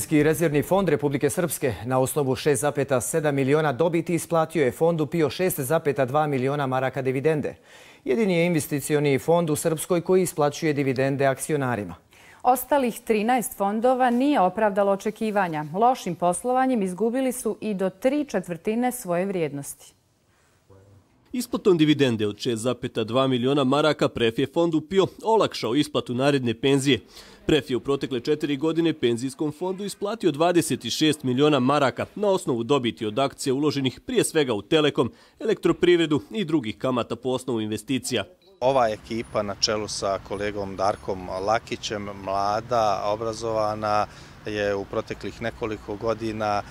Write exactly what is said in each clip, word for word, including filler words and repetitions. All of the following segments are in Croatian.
Rezervni fond Republike Srpske na osnovu šest zarez sedam miliona dobiti isplatio je fondu PIO šest zarez dva miliona maraka dividende. Jedini je investicioni fond u Srpskoj koji isplaćuje dividende akcionarima. Ostalih trinaest fondova nije opravdalo očekivanja. Lošim poslovanjem izgubili su i do tri četvrtine svoje vrijednosti. Isplatom dividende od šest zarez dva miliona maraka Pref je fondu PIO olakšao isplatu naredne penzije. Pref je u protekle četiri godine penzijskom fondu isplatio dvadeset šest miliona maraka na osnovu dobiti od akcija uloženih prije svega u Telekom, elektroprivredu i drugih kamata po osnovu investicija. Ova ekipa na čelu sa kolegom Darkom Lakićem, mlada, obrazovana, je u proteklih nekoliko godina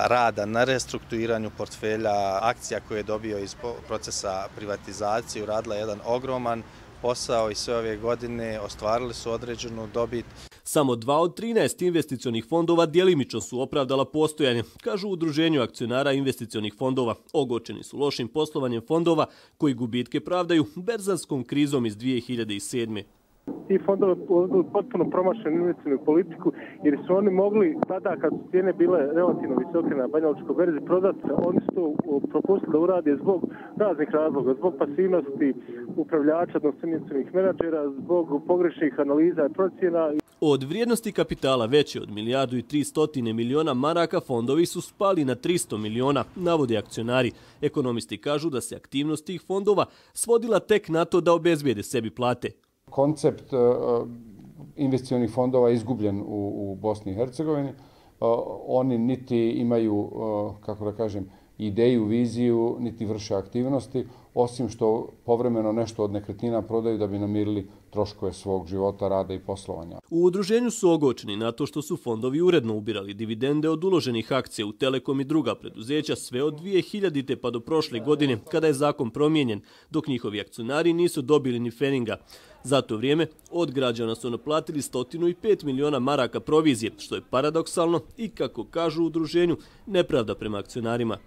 rada na restrukturiranju portfelja akcija koje je dobio iz procesa privatizacije, uradila jedan ogroman posao i sve ove godine ostvarili su određenu dobit. Samo dva od trinaest investicionih fondova djelimično su opravdala postojanje, kažu u Udruženju akcionara investicionih fondova. Ogorčeni su lošim poslovanjem fondova koji gubitke pravdaju berzanskom krizom iz dvije hiljade sedme. Ti fondovi potpuno promašenu investicijnu politiku jer su oni mogli tada kad su cijene bile relativno visoke na banjalučkoj berzi prodati, oni su to propustili da urade zbog raznih razloga, zbog pasivnosti upravljača, odnosno investicijnih menadžera, zbog pogrešnih analiza i procjena. Od vrijednosti kapitala veće od milijardu i tristo miliona maraka fondovi su spali na tristo miliona, navode akcionari. Ekonomisti kažu da se aktivnost tih fondova svodila tek na to da obezbijede sebi plate. Koncept investicionih fondova je izgubljen u, u Bosni i Hercegovini. Oni niti imaju, kako da kažem, ideju, viziju, niti vrše aktivnosti, osim što povremeno nešto od nekretnina prodaju da bi namirili troškove svog života, rada i poslovanja. U udruženju su ogorčeni na to što su fondovi uredno ubirali dividende od uloženih akcija u Telekom i druga preduzeća sve od dvije hiljadite pa do prošle godine kada je zakon promijenjen, dok njihovi akcionari nisu dobili ni feninga. Za to vrijeme od građana su naplatili sto pet miliona maraka provizije, što je paradoksalno i, kako kažu u udruženju, nepravda prema akcionarima.